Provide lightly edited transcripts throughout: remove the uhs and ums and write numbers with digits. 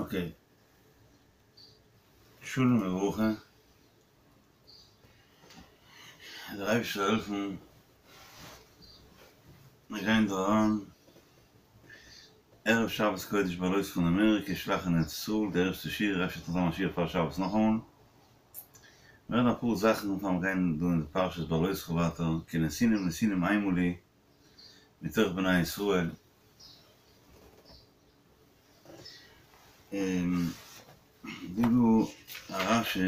אקעי. שלום וברכה. דער אייבערשטער זאל העלפן מיר גייען דא אריין ערב שבת קודש בהעלותך אין אמעריקע שלח אין ארץ ישראל די ערשטע שיעור אפשר וועט נאך זיין א שיעור פאר שבת נאכאמאל. מיר רעדן אפאר זאכן פאר מיר גייען דא אין די פרשת בהעלותך ווייטער כי נתינים נתינים המה לי מתוך בני ישראל. און דא דא א רשי.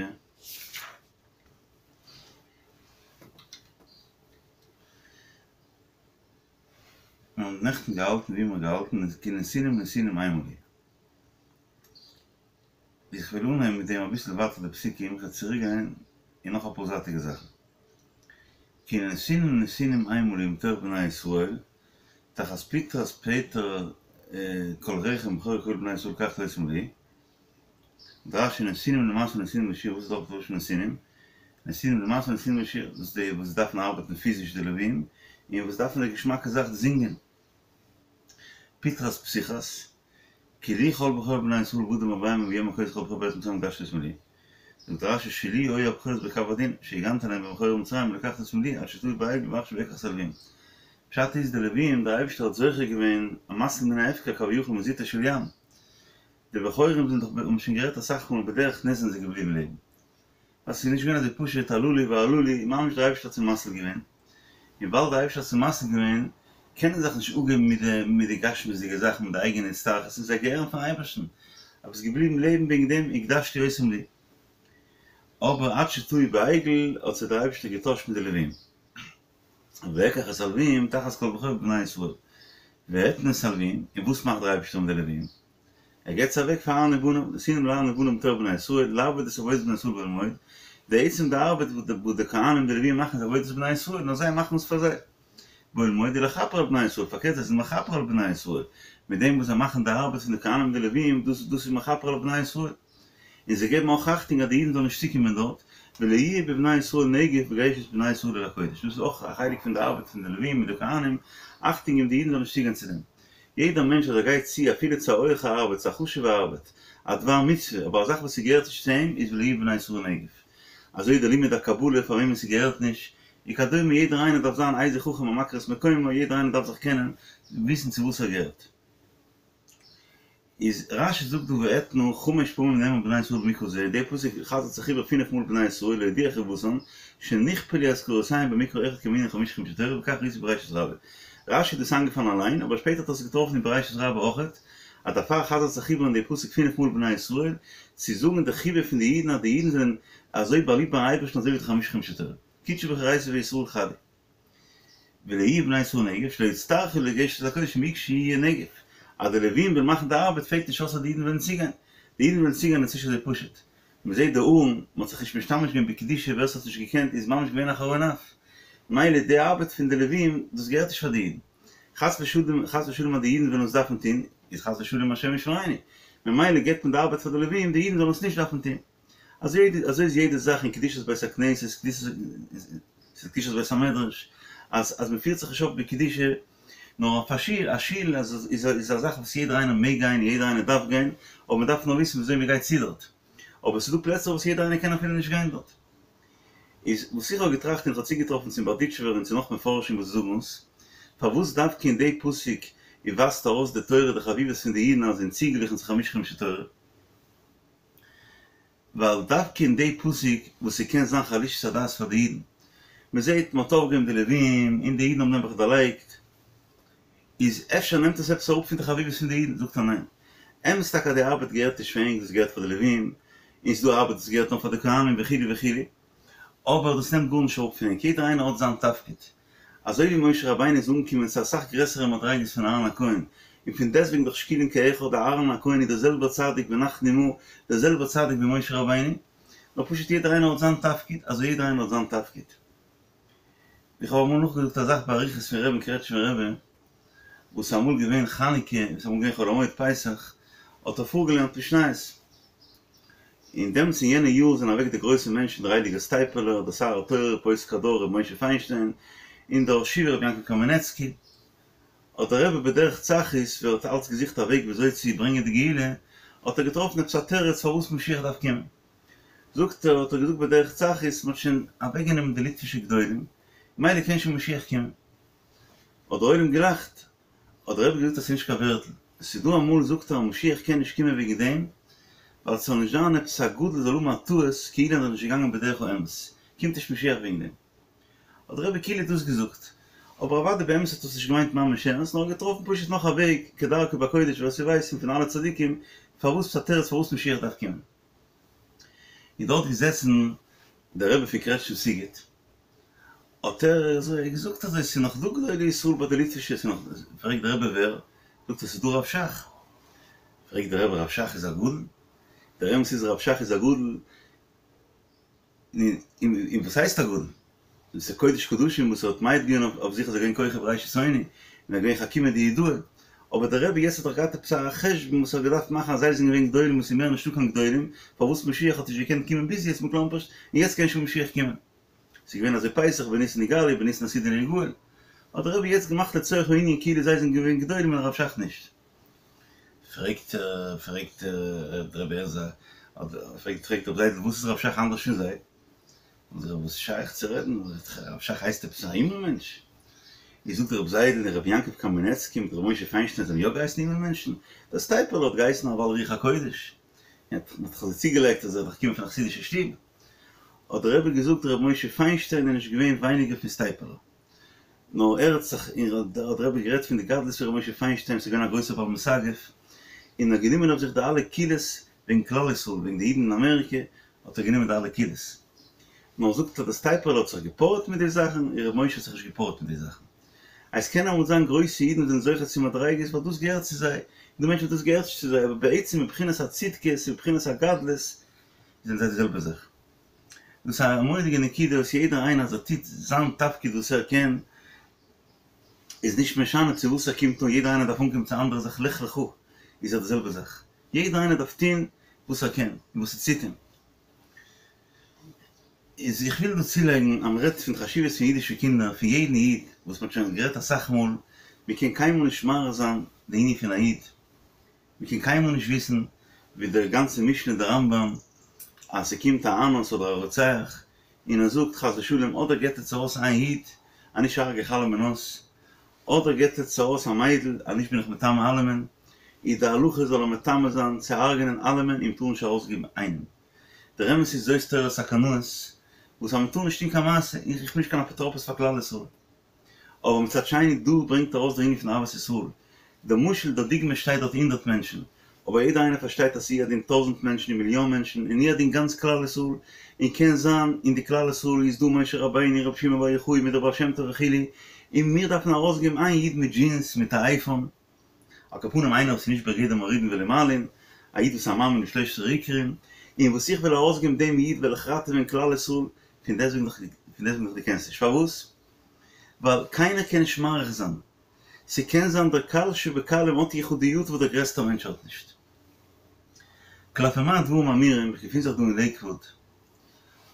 מיר האבן נעכטן געהאלטן ווי מיר האבן געהאלטן איז כי נתינים נתינים המה לי. איך וויל אנהייבן מיט דעם אביסל ווייטער די פסוקים, איך וועל צוריק גיין אין נאך אפאר זייטיגע זאכן. כי נתינים נתינים המה לי מתוך בני ישראל, תחת פטרת פטר כל רחם בכור כל בני ישראל לקחתי אותם לי. זאגט רשי נתינים למשא ונתינים לשיר, וואס איז דארט לשון נתינים? נתינים למשא ונתינים לשיר, דאס איז די וואס דארפן ארבעטן פיזיש די לווים, און וואס דארפן די געשמאקע זאך די זינגען. פטרת פתיחת, כי לי כל בכור בני ישראל באדם ובבהמה מיום הכות כל בכור בארץ מצרים הקדשתי אותם לי. זאגט רשי שלי היו הבכורות בקו הדין, שהגנתי עליהם בין בכורי מצרים ולקחתי אותם לי עד שטעו בעגל ועכשיו אקח את הלווים. פשט איז די לווים, דער אייבערשטער האט זוכה געווען המציל מן ההפקר כביכול מזוטו של ים. די בכורים זענען דאך, האבן שוין גערעדט אסאך מאל, בדרך נס זענען זיי געבליבן לעבן. ווייל ס'איז נישט געווען אזוי פשוט הללו והללו, ממש דער אייבערשטער האט זיי מציל געווען. און ווייל דער אייבערשטער האט זיי מציל געווען, קענען זיי זיך נישט אפגעבן מיט די מיט די גשמיות'דיגע זאכן, מיט די אייגענע הצטרכות, און זיי געהערן פארן אייבערשטן. אבער ס'איז געבליבן לעבן וועגן דעם הקדשתי אותם לי. אבער עד שטעו בעגל האט זיי דער אייבערשטער געטוישט מיט די לווים. ואקח את הלווים תחת כל בכור בבני ישראל. ואתנה את הלווים, און וואס מאכט דער אייבערשטער מיט די לווים? ער געבט זיי אוועק פאר אהרן ובניו, נתינים לאהרן ובניו מתוך בני ישראל, לעבוד את עבודת בני ישראל באהל מועד, די עצם די ארבעט וואס די כהנים די לווים מאכן איז עבודת בני ישראל, נאר זיי מאכן עס פאר זיי. באהל מועד ולכפר על בני ישראל, פארקערט זיי זענען מכפר על בני ישראל, מיט דעם וואס זיי מאכן די ארבעט פון די כהנים די לווים, דאס דאס איז מכפר על בני ישראל. און זיי געבן אויך אכטונג אז די אידן זאלן נישט צוקומען דארט, ולא יהיה בבני ישראל נגף בגשת בני ישראל אל הקודש, דאס איז אויך א חלק פון די ארבעט פון די לווים מיט די כהנים, אכטונג געבן די אידן זאלן נישט צוגיין צו דעם. יעדער מענטש אז ער גייט צו אפילו צו א הויכע ארבעט, צו א חשוב'ע ארבעט, א דבר מצוה, אבער א זאך וואס ס'געהערט נישט צו אים, איז ולא יהיה בבני ישראל נגף. אזוי די לימוד הקבלה פאר וועמען ס'געהערט נישט, וכדומה יעדער איינער דארף זיין איזה חכם המכיר את מקומו, יעדער איינער דארף זיך קענען, וויסן צו וואס ער געהערט. איז רשי זאגט דא ואתנה חמש פעמים נאמר בני ישראל במקרא זה, די פסוק חזר'ט זיך איבער פינף מאל בני ישראל להודיע חיבתן, שנכפלו אזכרותיהם במקרא אחד כמנין חמשה חומשי תורה וכך ראיתי בראשית רבה. רשי איז דאס איינגעפאלן אליין, אבער שפעטער האט ער עס געטראפן אין בראשית רבה אויכעט, אז דערפאר חזר'ט זיך איבער אין די פסוק פינף מאל בני ישראל, צו זאגן די חיבה פון די אידן אז די אידן זענען אזוי באליבט ביים אייבערשטן אזוי ווי די חמשה חומשי תורה. קודשא בריך הוא אורייתא וישראל חד הוא. ולא יהיה בבני ישראל נגף שלא יצטרכו לגשת אל הקודש אם יגשו יהיה נגף, אז די לווים וועלן מאכן די ארבעט פעלט נישט אויס אז די אידן וועלן צוגיין, די אידן וועלן צוגיין איז נישט אזוי פשוט, מען זעט די ארון, מען האט זיך נישט משתמש געווען בקדושה ווער ס'האט נישט געקענט איז ממש געווען א חרון אף, מילא די ארבעט פון די לווים דאס געהערט נישט פאר די אידן, חס ושלום חס ושלום אז די אידן וועלן עס דארפן טון איז חס ושלום השם ישמרינו, ממילא געבט מען די ארבעט פאר די לווים די אידן זאלן עס נישט דארפן טון. אזוי אזוי איז יעדע זאך אין קדושת בית הכנסת, קדושת בית המדרש, אז אז מען פירט זיך נישט אויף בקדושה, נאר אויף א שול, א שול איז איז א זאך וואס יעדער איינער מעג גיין, יעדער איינער דארף גיין, אבער מען דארף נאר וויסן וויאזוי מען גייט צו דארט. אבער ס'איז דא פלעצער וואס יעדער איינער קען אפילו נישט גיין דארט. איז וואס איך האב געטראכט און איך האב צוגעטראפן צום בארדיטשובער און צו נאך מפרשים וואס זאגן עס, פארוואס דווקא אין די פסוק ווייזט ארויס די תורה די חביבות פון די אידן אז זענען צוגעגליכן צו חמשה חומשי תורה? ווייל דווקא אין די פסוק וואס ס'קען זיין חלישות הדעת פאר די אידן, מ'זעט מ'האט אויפגעהויבן די לווים און די אידן האבן נעבעך דערלייגט, איז אפשר נעמט עס עפעס אראפ פון די חביבות פון די אידן, זאגט ער ניין, אמת טאקע אז די ארבעט געהערט נישט פאר ענק דאס געהערט פאר די לווים, און ס'דא ארבעט וואס געהערט נאר פאר די כהנים וכו' וכו', אבער דאס נעמט גארנישט אראפ פון ענק, יעדער איינער האט זיין תפקיד, אזוי ווי משה רבינו איז אנגעקומען צו אסאך גרעסערע מדריגות פון אהרן הכהן, און פון דעסטוועגן דאך שקולין כאחד, דער אהרן הכהן איז דער זעלבער צדיק ונחנו מה, דער זעלבער צדיק ווי משה רבינו, נאר פשוט יעדער איינער האט זיין תפקיד, אזוי יעדער איינער האט זיין תפקיד. איך האב אמאל נאכגעזאגט א זאך באריכות פון רבי'ן קרעטשמער רבי, וואס איז אמאל געווען חנוכה, וואס איז אמאל געווען חול המועד פסח, האט ער פארגעלערנט משניות. און דעמאלטס אין יענע יאר זענען אוועק די גרויסע מענטשן דער הייליגער סטייפלער, דער שר התורה פוסק הדור ר' משה פיינשטיין, און דער ראש ישיבה ר' יעקב קאמינעצקי, האט דער רבי בדרך צחות ווי ער האט אלץ געזוכט א וועג וויאזוי צו ברענגען די גאולה, האט ער געטראפן עפעס א תירוץ פארוואס משיח דארף קומען. זאגט ער, האט ער געזאגט בדרך צחות, מ'האט שוין אוועקגענומען די ליטווישע גדולים, מילא קען שוין משיח קומען. האט דער עולם געלאכט, האט דער רבי געזאגט אז ס'איז נישט קיין ווערטל, עס איז דא אמאל זאגט ער אז משיח קען נישט קומען וועגן דעם, ווייל ס'זאל נישט זיין עפעס א גדול זאל האבן א טעות כאילו ער איז נישט געגאנגען בדרך האמת, קומט נישט משיח וועגן דעם. האט דער רבי כאילו דאס געזאגט, אבער אוודאי באמת האט עס נישט געמיינט ממש ערנסט, נאר געטראפן פשוט נאך א וועג כדרכו בקודש ווער ס'ווייסט פון אלע צדיקים פארוואס ס'איז א תירוץ פארוואס משיח דארף קומען. איז דארט געזעצן דער רבי פון קרעטשניף סיגוט, האט ער אזוי געזאגט אזוי ס'איז נאך דא גדולי ישראל ביי די ליטווישע, ס'איז נאך, פרעגט דער רבי ווער? זאגט ער ס'איז דא רב שך, פרעגט דער רבי רב שך איז א גדול? דער אמת איז רב שך איז א גדול, און וואס הייסט א גדול? דאס איז קודש קדשים וואס ער האט מעיד געווען אויף זיך אז ער איז געווען כוכב ראשית אוני, און ער איז געווען חכימא דיהודאי, אבער דער רבי יעצט האט דאך געהאט עפעס א חשבון וואס ער האט געדארפט מאכן אז זיי זענען געווען גדולים און ס'איז מער נישטא קיין גדולים, פארוואס משיח האט נישט געקענט קומען ביז יעצט מכלומרשט, און יעצט קען שוין משיח קומען. ס'איז געווען אזוי פסח בניסן נגאלו בניסן עתידין ליגאל. האט דער רבי יעצט געמאכט לצורך הענין כאילו זיי זענען געווען גדולים און הרב שך נישט. פרעגט פרעגט דער רבי עזר, פרעגט פרעגט רב זיידל וואס איז רב שך אנדערש פון זיי? זאגט ער וואס איז שייך צו רעדן, רב שך הייסט עפעס א הימל מענטש? איז זאגט רב זיידל און רבי יעקב קאמינעצקי מיט רבי משה פיינשטיין זיי האבן יא געהייסן הימל מענטשן? דער סטייפלער האט געהייסן א בעל רוח הקודש, מען האט זיך אזוי צוגעלייגט אז ער איז דאך געקומען פון א חסידישע שטוב, האט דער רבי געזאגט רבי משה פיינשטיין איז נישט געווען ווייניגער פון סטייפלער. נאר ער האט זיך, און האט דער רבי גערעדט פון די גדלות פון ר' משה פיינשטיין וואס איז געווען א גרויסער בעל מסגף, און האט גענומען אויף זיך די אלע קולות וועגן כלל ישראל, וועגן די אידן אין אמעריקע, האט ער גענומען די אלע קולות. נאר זאגט ער, דער סטייפלער האט זיך געפארעט מיט די זאכן, און ר' משה האט זיך נישט געפארעט מיט די זאכן. עס קען אמאל זיין גרויסע אידן וואס זענען זוכה צו מדריגות ווייל דאס געהערט צו זיי, און דא מענטשן וואס דאס געהערט נישט צו זיי, אבער בעצם מבחינת הצדקות און מבחינת הגדלות זענען זיי די זעלבע זאך. דאס איז א מורא'דיגע נקודה וואס יעדער איינער אז ער טוט זיין תפקיד וואס ער קען, איז נישט משנה צו וואס ער קומט אן, יעדער איינער דארף אנקומען צו אנדערע זאך לך לך איז ער די זעלבע זאך, יעדער איינער דארף טון וואס ער קען און וואס ס'ציט אים. איז איך וויל דא צולייגן אז מ'רעדט פון חשיבות פון אידישע קינדער, פון יעדן איד, וואס מ'האט שוין גערעדט אסאך מאל, מ'קען קיינמאל נישט מעריך זיין די ענין פון א איד, מען קען קיינמאל נישט וויסן ווי דער גאנצע משנה דער רמב"ם אז ס'קומט א אנוס אדער א רוצח און ער זאגט חס ושלום אדער געט עטס ארויס איין איד אנישט הרג'ע איך אלעמען אויס אדער געט עטס ארויס א מיידל אנישט בין איך מטמא אלעמען איז די הלכה זאל ער מטמא זיין צו הרג'נען אלעמען און מ'טאר נישט ארויסגעבן איינעם דער אמת איז זאת תורת הקנאות וואס אז מ'טאר נישט טון קיין מעשה איך בין נישט קיין אפוטרופוס פאר כלל ישראל. אבער מצד שני דא ברענגט ארויס דער ענין פון אהבת ישראל, דער משל דער דוגמא שטייט דארט הונדרעט מענטשן, אבער יעדער איינער פארשטייט אז ס'איז הוא הדין טויזנט מענטשן און מיליאן מענטשן און הוא הדין גאנץ כלל ישראל, און קען זיין אין די כלל ישראל איז דא משה רבינו רבי שמעון בר יוחאי מיט דער בעל שם טוב וכו', און מיר דארפן ארויסגעבן איין איד מיט דזשינס מיט א אייפאון, על כל פנים איינער וואס איז נישט בגדר מורידין ולא מעלין, א איד וואס איז א מאמין בשלושת העיקרים, און וואס איך וועל ארויסגעבן דעם איד וועל איך ראטעווען כלל ישראל, פון דעסוועגן דאך פון דעסוועגן דאך דו קענסט נישט, פארוואס? ווייל קיינער קען נישט מעריך זיין, ס'קען זיין דער קל שבקלים האט יחודיות וואס דער גרעסטער מענטש האט נישט. כלפי מה הדברים אמורים, איך געפין זיך דא אין לעיקוואוד,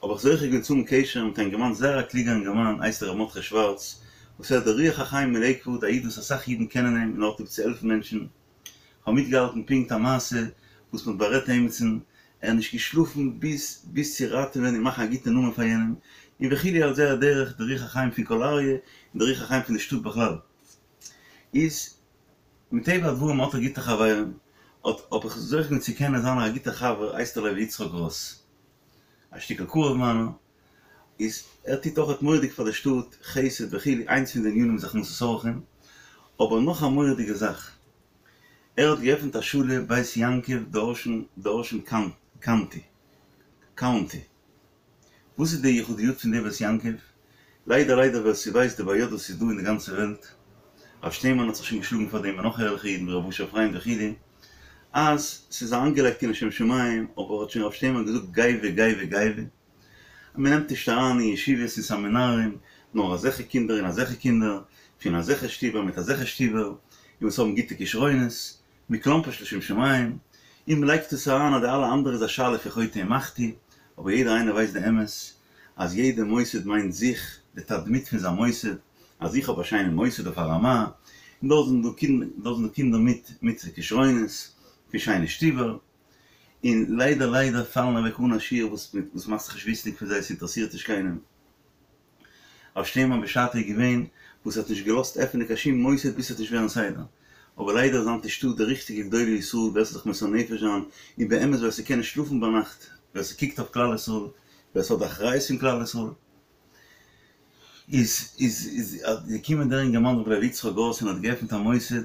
האב איך זוכה געווען צו האבן קשר מיט א אינגערמאן זייער א קלוגער אינגערמאן הייסט ער ר' מרדכי שווארץ, וואס ער איז דער רוח החיים אין לעיקוואוד, א איד וואס אסאך אידן קענען אים און ער האט ליב צו העלפן מענטשן, כ'האב מיטגעהאלטן פונקט א מעשה וואס מ'האט בארעדט עימיצן, ער האט נישט געשלאפן ביז ביז צו ראטעווען און מאכן א גוטע נאמען פאר יענעם, און וכו' על זה הדרך, דער רוח החיים פון קול אריה, און דער רוח החיים פון די שטאט בכלל. איז מטבע הדברים האט ער גוטע חברים, האט האב איך זוכה געווען צו קענען זיין א גוטער חבר הייסט ער לוי יצחק גראס, א שטיקל קרוב מיינער, איז ער טוט אויכעט מורא'דיג פאר די שטאט, חסד וכו', איינס פון די ענינים איז הכנסת אורחים, אבער נאך א מורא'דיגע זאך, ער האט געעפנט א שולע בית יעקב דארשן דארשן קאנטי, קאונטי, וואס איז די יחודיות פון די בית יעקב? ליידער ליידער ווער ס'ווייסט די בעיות וואס איז דא אין די גאנצע וועלט, הרב שטיינמאן האט זיך שוין געשלאגן פאר דעם און נאך ערליכע אידן ווי ר' אשר פריינד וכו', אז ס'איז אריינגעלייגט אין לשם שמים, אבער האט שוין הרב שטיינמאן געזאגט גייווע גייווע גייווע, אז מ'נעמט נישט אריין אין ישיבות און סעמינארים נאר אזעלכע קינדער און אזעלכע קינדער, פון אזעלכע שטיבער מיט אזעלכע שטיבער, און וואס האבן גוטע כשרונות, מכלומרשט לשם שמים, און מ'לייגט עס אריין אז די אלע אנדערע איז א שאלה פון חוטא ומחטיא, אבער יעדער איינער ווייסט די אמת אז יעדע מוסד מיינט זיך, די תדמית פון זיין מוסד, אז איך האב א שיינע מוסד אויף א רמה, און דארט זענען דא קינדער מיט מיט כשרונות, פון שיינע שטיבער. און ליידער ליידער פאלן אוועק אן א שיעור וואס וואס מאכט זיך נישט וויסנדיג פון זיי, ס'אינטערעסירט נישט קיינעם. הרב שטיינמאן בשעתו איז געווען וואס האט נישט געלאזט עפענען קיין שום מוסד ביז ס'וועט נישט ווערן סדר, אבער ליידער איז היינט נישטא די ריכטיגע גדולי ישראל ווער ס'זאל זיך מוסר נפש זיין, און באמת ווער ס'קען נישט שלאפן ביינאכט, ווער ס'קוקט אויף כלל ישראל, ווער ס'האט די אחריות פון כלל ישראל. איז איז איז געקומען דער אינגערמאן רבי לוי יצחק גראס און האט געעפנט א מוסד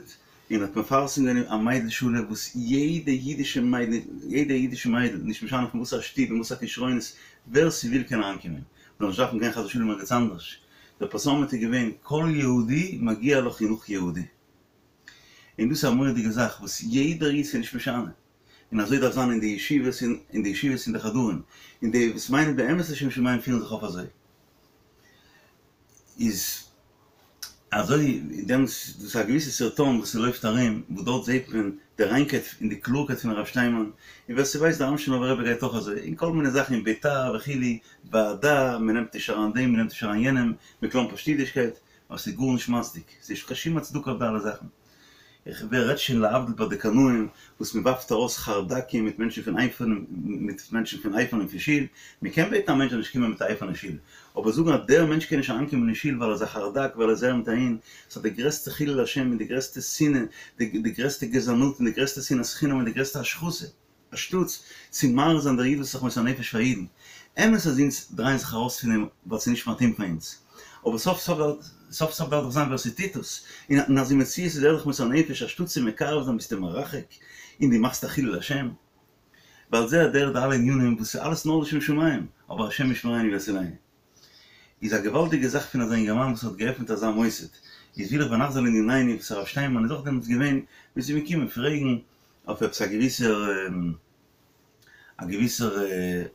און האט מפרסם געווען א מיידל שולע וואס יעדע אידישע מיידל יעדע אידישע מיידל נישט משנה פון וואס א שטוב און וואס א כשרונות ווער ס'וויל קען אריינקומען מ'זאל נישט דארפן גיין חס ושלום ערגעץ אנדערש דער פרסומת איז געווען כל יהודי מגיע לו חינוך יהודי און דאס איז א מורא'דיגע זאך וואס יעדער איד ס'איז נישט משנה און אזוי דארף זיין אין די ישיבות און אין די ישיבות און די חדרים, און די וואס מיינען באמת לשם שמים פירן זיך אויף אזוי. איז אזוי דעמאלטס דאס איז א געוויסע סרטון וואס ס'לויפט ארום וואס דארט זעט מען די ריינקייט און די קלארקייט פון הרב שטיינמאן, און ווער ס'ווייסט די אמשינאווער רבי גייט אויך אזוי, און כל מיני זאכן אין ביתר וכו', ועדה, מ'נעמט נישט אריין דעם מ'נעמט נישט אריין יענעם, מ'קלאמפערשט אידישקייט, אבער ס'איז גארנישט מצדיק, ס'איז נישט קיין שום הצדקה אויף די אלע זאכן. איך ווער רעדט שוין להבדיל ביי די קנאים וואס מען ווארפט ארויס חרדקים מיט מענטשן פון אייפאן מיט מענטשן פון אייפאן און פון שול, מען קען בעטן א מענטש זאל נישט קומען מיט א אייפאן אין שול, אבער זאגן אז דער מענטש קען נישט אריינקומען אין שול ווייל ער איז א חרדק ווייל ער איז אהער מיט אהין, ס'איז די גרעסטע חילול השם און די גרעסטע שנאה, די גרעסטע גזענות און די גרעסטע שנאת חינם און די גרעסטע השחתה. אנשטאטס צו מעריך זיין דער איד וואס איז זיך מוסר נפש פאר אידן. אמת אז אונז דרייען זיך ארויס פון אים ווייל ס'איז נישט מתאים פאר אונז. אבער סוף סוף סוף סוף דארף דאך זיין ווער ס'טוט עס. און אז אין מציאות איז ער זיך מוסר נפש אנשטאטס צו מקרב זיין ביסטו מרחק און דו מאכסט א חילול השם. ועל זה הדרך די אלע ענינים וואס איז אלעס נאר לשם שמים אבער השם ישמרינו ויצילנו. איז א געוואלדיגע זאך פון אזא אינגערמאן וואס האט געעפנט אזא מוסד. איז וויל איך ונחזור לענינינו וואס הרב שטיינמאן איז אויך דעמאלטס געווען מ'איז אים געקומען פרעגן אויף עפעס א געוויסער א געוויסער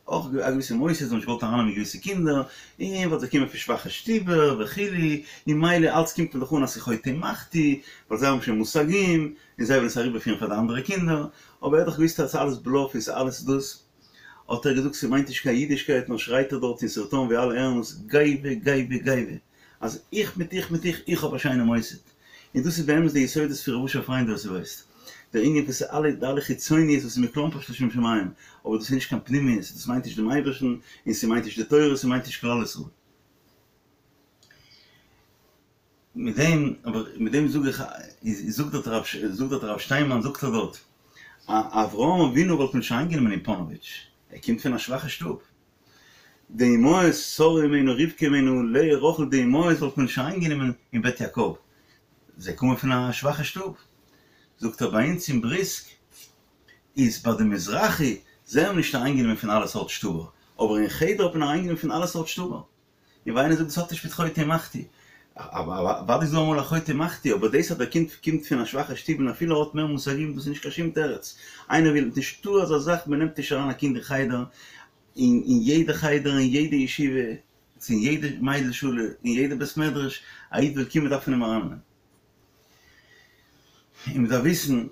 אויך א געוויסע מוסד האט נישט געוואלט ארייננעמען געוויסע קינדער און ווייל זיי קומען פון שוואכע שטובער וכו' און מילא אלץ קומט מען דאך אן אז ס'איז חוטא ומחטיא ווייל זיי האבן שוין מושגים און זיי ווילן עס אריבערפירן פאר די אנדערע קינדער אבער ער האט דאך געוויסט אז ס'איז אלעס בלאף און ס'איז אלעס דאס האט ער געזאגט ס'מיינט נישט קיין אידישקייט נאר שרייט ער דארט אין סרטון ווי אלע הערן עס גאווה גאווה גאווה אז איך מיט איך מיט איך איך האב א שיינע מוסד. און דאס איז באמת די יסודות פון ר' אשר פריינד ווער ס'ווייסט. דער ענין פון ס'אלע די אלע חיצוניות וואס איז מ'קלאמפערשט לשם שמים, אבער דאס איז נישט קיין פנימיות, דאס מיינט נישט דעם אייבערשטן, און ס'מיינט נישט די תורה, ס'מיינט נישט כלל ישראל. מיט דעם, אבער מיט דעם זאג איך, איז זאגט דארט הרב, זאגט דארט הרב שטיינמאן זאגט ער דארט, א אברהם אבינו וואלט מען נישט אריינגענומען אין פאנאוויטש, ער קומט פון א שוואכע שטוב. די אמהות, שרה אמנו, רבקה אמנו, לאה, רחל, די אמהות וואלט מען נישט אריינגענומען אין בית יעקב, זיי קומען פון א שוואכע שטוב. זאגט ער, ביי אונז אין בריסק איז ביי די מזרחי, זיי האבן נישט אריינגענומען פון אלע סארט שטובער, אבער אין חדר האט מען אריינגענומען פון אלע סארט שטובער. און ווי איינער זאגט דאס האט נישט מיט חוטא ומחטיא, אוודאי איז דא אמאל א חוטא ומחטיא, אבער דאס אז דער קינד קומט פון א שוואכע שטוב און אפילו ער האט מער מושגים דאס איז נישט קיין שום תירוץ, איינער וויל, נישטא אזא זאך מען נעמט נישט אריין א קינד אין חדר, אין אין יעדע חדר אין יעדע ישיבה, צו אין יעדע מיידל שולע, אין יעדע בית מדרש, א איד וויל קומען דארף מען אים ארייננעמען. און מען דארף וויסן,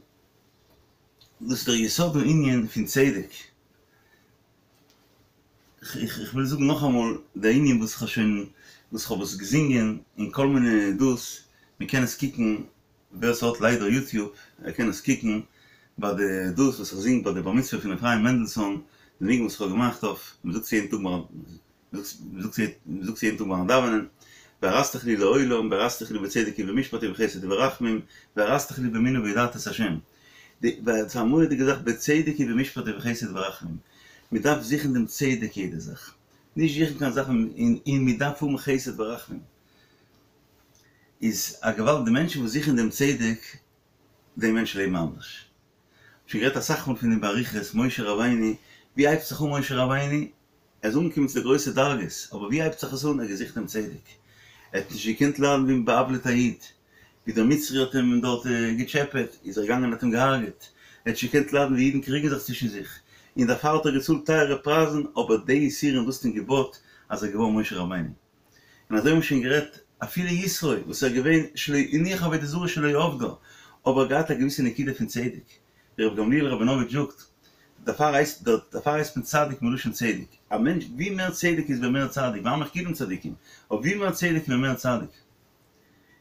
דאס איז דער יסוד הענין פון צדק. איך וויל זאגן נאכאמאל די ענין וואס איך האב שוין וואס איך האב עס געזינגען אין כל מיני דאס, מען קען עס קוקן ווער ס'האט ליידער יוטיוב ער קען עס קוקן ביי די דאס וואס איך זינג ביי די בר מצוה פון אפרים מענדלסאן די ניגון וואס איך האב געמאכט אויף מען זאגט עס יעדן טאג מען זאגט עס יעדן טאג ביים דאווענען וארשתיך לי לעולם וארשתיך לי בצדק ובמשפט ובחסד וברחמים וארשתיך לי באמונה וידעת את ה' די ס'איז א מורא'דיגע זאך בצדק ובמשפט ובחסד וברחמים, מען דארף זוכן דעם צדק יעדע זאך, נישט זוכן קיין זאכן און מען דארף האבן חסד ורחמים, איז א געוואלד די מענטשן וואס זוכן דעם צדק, די מענטשן לעבן אנדערש. שוין גערעדט אסאך מאל פון דעם באריכות, משה רבינו, ווי הייבט זיך אן משה רבינו? ער איז אנגעקומען צו די גרויסע דרגות, אבער ווי הייבט זיך עס אן? ער האט געזוכט דעם צדק. ער האט נישט געקענט ליידן ווי מ'בא'עוולה'ט א איד, ווי דער מצרי האט אים דארט געטשעפעט, איז ער געגאנגען און האט אים געהארגעט. ער האט נישט געקענט ליידן ווי אידן קריגן זיך צווישן זיך, און דערפאר האט ער געצאלט טייערע פרייזן, אבער די יסורים דאס האט אים געבויט אז ער איז געווארן משה רבינו. און אזוי האבן מיר שוין גערעדט, אפילו יתרו, וואס ער איז געווען שלא הניח עבודה זרה שלא עבדה, אבער ער האט געהאט א געוויסע נקודה פון צדק. ווי רבי גמליאל ראבינאוויטש זאגט, דערפאר הייסט דערפאר הייסט מען צדיק מלשון צדק. א מענטש ווי מער צדק איז מען מער צדיק, ועמך כולם צדיקים, אבער ווי מער צדק איז מען מער צדיק.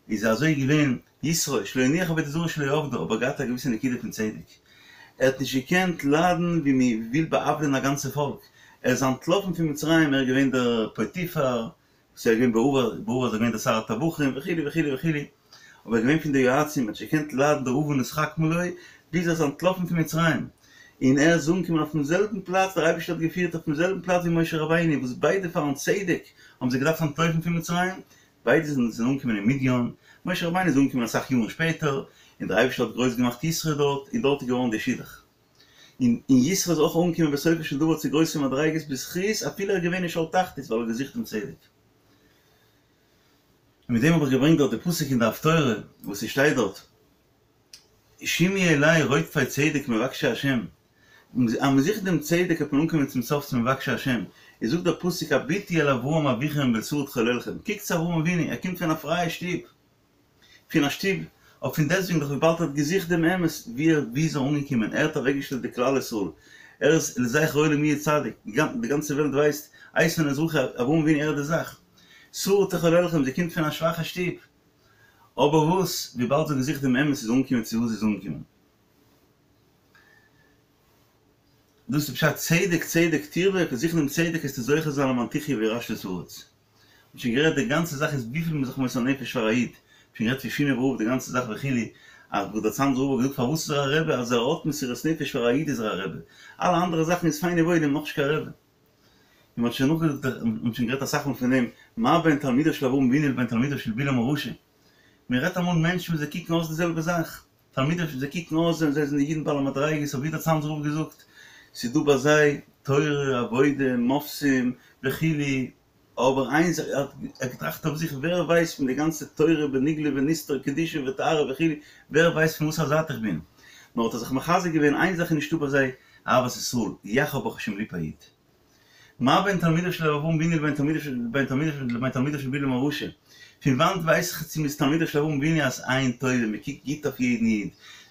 איז אזוי געווען יתרו, שלא הניח עבודה זרה שלא עבדה, אבער געהאט א געוויסע נקודה פון צדק. ער האט נישט געקענט ליידן ווי מען וויל בא'עוול'ען א גאנצע פאלק, ער איז אנטלאפן פון מצרים, ער איז געווען דער פוטיפר, וואס ער איז געווען בעבר, בעבר איז ער געווען דער שר הטבחים וכו' וכו' וכו', אבער ער איז געווען פון די יועצים, ער האט נישט געקענט ליידן די און נתחכמה לו, ביז ער איז אנטלאפן פון מצרים, און ער איז אנגעקומען אויפן זעלבן פלאץ, דער אייבערשטער האט געפירט אויפן זעלבן פלאץ ווי משה רבינו, וואס ביידע פארן צדק האבן זיי געדארפט אנטלויפן פון מצרים, ביידע זענען אנגעקומען אין מדין, משה רבינו איז אנגעקומען אסאך יארן שפעטער, און דער אייבערשטער האט גרויס געמאכט יתרו דארט, און דארט איז געווארן די שידוך. און יתרו איז אויך אנגעקומען בסופו של דבר צו גרויסע מדריגות בזכות אפילו ער איז געווען אין שאול תחתית ווייל ער האט געזוכט דעם צדק. און מיט דעם האב איך געברענגט דארט די פסוק אין די הפטורה וואס ס'שטייט דארט שמעו אלי רודפי צדק מבקשי השם, אז מ'זוכט דעם צדק וועט מען אנקומען צום סוף צו מבקשי השם, איז זאגט דער פסוק הביטו אל אברהם אביכם ואל שרה תחוללכם, קוקט צו אברהם אבינו, ער קומט פון א פרייע שטוב, פון א שטוב, אבער פון דעסטוועגן דאך וויבאלד ער האט געזוכט דעם אמת, ווי ער ווי איז ער אנגעקומען, ער האט אוועקגעשטעלט די כלל ישראל, ער איז לזכר עולם יהיה צדיק, די גאנצע וועלט ווייסט, איתן האזרחי, אברהם אבינו ער איז די זאך, שרה תחוללכם, זי קומט פון א שוואכע שטוב, אבער וואס, וויבאלד זי האט געזוכט דעם אמת איז זי אנגעקומען צו וואס זי איז אנגעקומען. דאס איז פשט צדק צדק תרדוף, זוכן דעם צדק וועסטו זוכה זיין למען תחיה וירשת את הארץ. מ'האט שוין גערעדט די גאנצע זאך איז וויפיל מ'איז זיך מוסר נפש פאר א איד, מ'האט שוין גערעדט פון שינאווער רב די גאנצע זאך וכו', אז וואס דער צאנזער רב האט געזאגט פארוואס איז ער א רבי אז ער האט מסירות נפש פאר א איד איז ער א רבי, אלע אנדערע זאכן איז פיין און וואויל און נאכנישט קיין רבי. און מ'האט שוין נאכגעזאגט, מ'האט שוין גערעדט אסאך מאל פון דעם, מה בין תלמידיו של אברהם אבינו לבין תלמידיו של בלעם הרשע, מ'רעדט אמאל מענטשן וואס זיי קוקן אויס די זעלבע זאך, תלמידים זיי קוקן אויס זיי זענען אידן בעלי מדריגות אבער ווי דער צאנזער רב געזאגט ס'איז דא ביי זיי תורה עבודה מופתים וכו' אבער איין זאך ער האט געטראכט אויף זיך ווער ווייסט פון די גאנצע תורה בנגלה ונסתר קדושה וטהרה וכו' ווער ווייסט פון וואס א זייט איך בין נאר האט ער זיך מחזק געווען איין זאך איז נישטא ביי זיי אהבת ישראל יאך האב ברוך השם ליב א איד. מה בין תלמידיו של אברהם אבינו לבין תלמידיו של לבין תלמידיו של לבין תלמידיו של בלעם הרשע? פון וואנט ווייס איך צו מ'איז תלמידיו של אברהם אבינו אז עין טובה, מ'קוקט גוט אויף יעדן איד,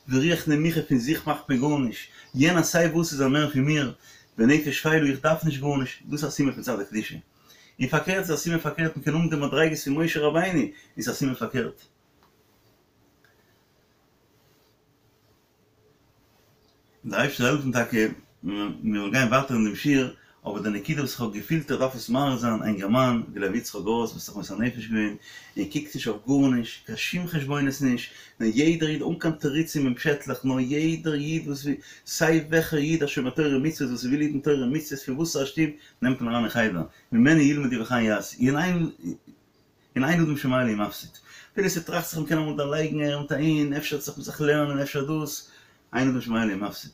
ורוח נמוכה פון זיך מאכט מען גארנישט, יענער סיי וואס איז ער מער פון מיר, ונפש שפלה איך דארף נישט גארנישט, דאס איז א סימן פון צד הקדושה. און פארקערט איז א סימן פארקערט מ'קען האבן די מדריגות פון משה רבינו איז א סימן פארקערט. און דער אייבערשטער זאל העלפן טאקע מיר וועלן גיין ווייטער אין דעם שיעור, אבער די נקודה וואס איך האב געפילט איך דארף עס מעורר זיין, א אינגערמאן ווי לוי יצחק גראס וואס האט זיך מוסר נפש געווען און קוקט נישט אויף גארנישט, קיין שום חשבונות נישט, נאר יעדער איד אן קיין תירוצים און פשעטלעך, נאר יעדער איד וואס וויל, סיי וועלכער איד א שומר תורה ומצוות וואס וויל היטן תורה ומצוות פון וואס א שטוב נעמט מען אריין אין חדר, ממנו ילמדו וכן יעשו, און אין אדם שומע לי ומפסיד. אפילו ס'טראכט זיך מ'קען אמאל דערלייגן אהער מיט אהין, אפשר זיך זיך לערנען אפשר דאס, אין אדם שומע לי ומפסיד.